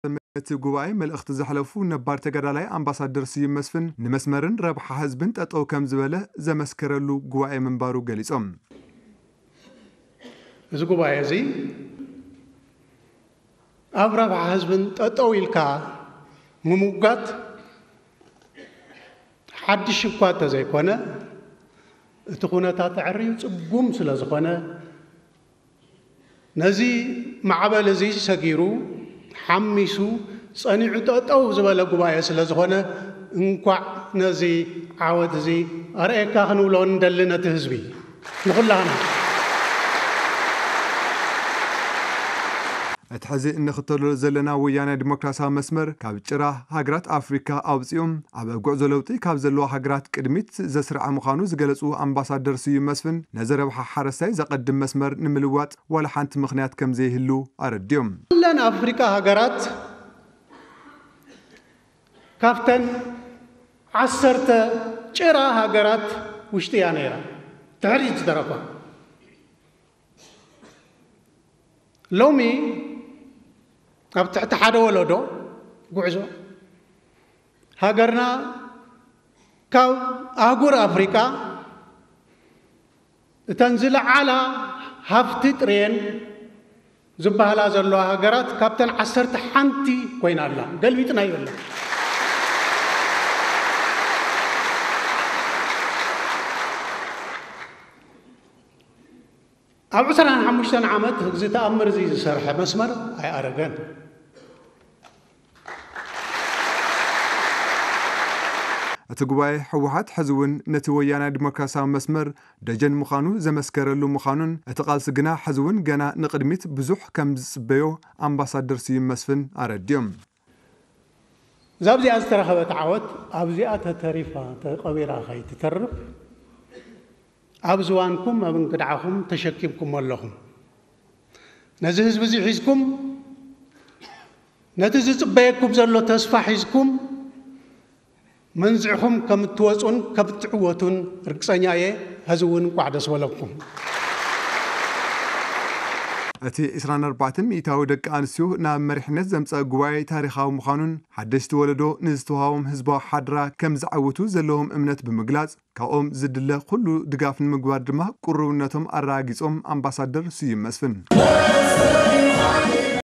እቲ ጉባኤ መልእኽቲ ዘሕለፉ ነባር ተጋዳላይ ኣምባሳደር ስዩም መስፍን፣ ንመስመርን ረብሓ ህዝብን ጠጠው ከም ዝበለ ዘመስከረሉ ጉባኤ ምንባሩ ገሊጾም። እዚ ጉባኤ እዚ ኣብ ረብሓ ህዝብን ጠጠው ኢልካ ምሙጋት ሓድሽ እኳ እንተዘይኮነ፣ እቲ ኩነታት ኣዕርዩ ጽጉም ስለ ዝኾነ፣ ነዚ ማዕበል እዚ ሰጊሩ፣ ሓሚሱ፣ ጸኒዑ ጠጠው ዝበለ ጉባኤ ስለ ዝኾነ፣ እንኳዕ ነዚ ዓወት እዚ ኣርእየካ ክንብሎ ንደሊ ነቲ ህዝቢ፣ ንኹላህና። እቲ ሕዚ እንኽተሎ ዘለና ወያናይ ዲሞክራሲያዊ መስመር፣ ካብ ጭራ ሃገራት ኣፍሪካ ኣውፂኦም ኣብ ጉዕዞ ለውጢ ካብ ዘለዋ ሃገራት ቅድሚት ዘስርዐ ምዃኑ ዝገለፁ ኣምባሳደር ስዩም መስፍን፣ ነዚ ረብሓ ሓረስታይ ዘቐድም መስመር ንምልዋጥ ዋላ ሓንቲ ምኽንያት ከም ዘይህሉ ኣረዲኦም። ኩለን ኣፍሪካ ሃገራት ካብተን ዓሰርተ ጭራ ሃገራት ውሽጢ እያ ነይራ፣ ድሕሪት ዝተረፋ። ሎሚ ኣብ ትሕቲ ሓደ ወለዶ ጉዕዞ፣ ሃገርና ካብ ኣህጉር ኣፍሪቃ እተን ዝለዓላ ሃፍቲ ጥርየን ዝበሃላ ዘለዋ ሃገራት ካብተን ዓሰርተ ሓንቲ ኮይና ኣላ። ገልቢጥና ይበላ። ኣብ ዕስራን ሓሙሽተን ዓመት እዚ ተኣምር እዚ ዝሰርሐ መስመር ኣይኣረገን። እቲ ጉባኤ፣ ህወሓት ሕዚ እውን ነቲ ወያናይ ዲሞክራሲያዊ መስመር ደጀን ምዃኑ ዘመስከረሉ ምዃኑን፣ እቲ ቃልሲ ግና ሕዚ እውን ገና ንቕድሚት ብዙሕ ከም ዝጽበዮ ኣምባሳደር ስዩም መስፍን ኣረዲኦም። እዛ ኣብዚኣ ዝተረኸበት ዓወት ኣብዚኣ ተተሪፋ ተቐቢራ ከይትተርፍ፣ ኣብ ዝባንኩም ኣብ እንግድዓኹም ተሸኪምኩም ኣለኹም። ነዚ ህዝቢ እዚ ሒዝኩም፣ ነቲ ዝጽበየኩም ዘሎ ተስፋ ሒዝኩም፣ መንዝዕኹም ከም እትወጹን ከም እትዕወቱን ርግጸኛ እየ። ሕዚ እውን እንቋዕ ደስ በለኩም። እቲ ዕስራን ኣርባዕተን ሚእታዊ ደቂ ኣንስትዮ ናብ መሪሕነት ዘምጸአ ጉባኤ ታሪኻዊ ምዃኑን፣ ሓደሽቲ ወለዶ ንዝተዋሃቦም ህዝባዊ ሓድራ ከም ዘዐውቱ ዘለዎም እምነት ብምግላጽ፣ ካብኦም ዝድለ ኩሉ ድጋፍ ንምግባር ድማ ቅሩብነቶም ኣረጋጊጾም ኣምባሳደር ስዩም መስፍን።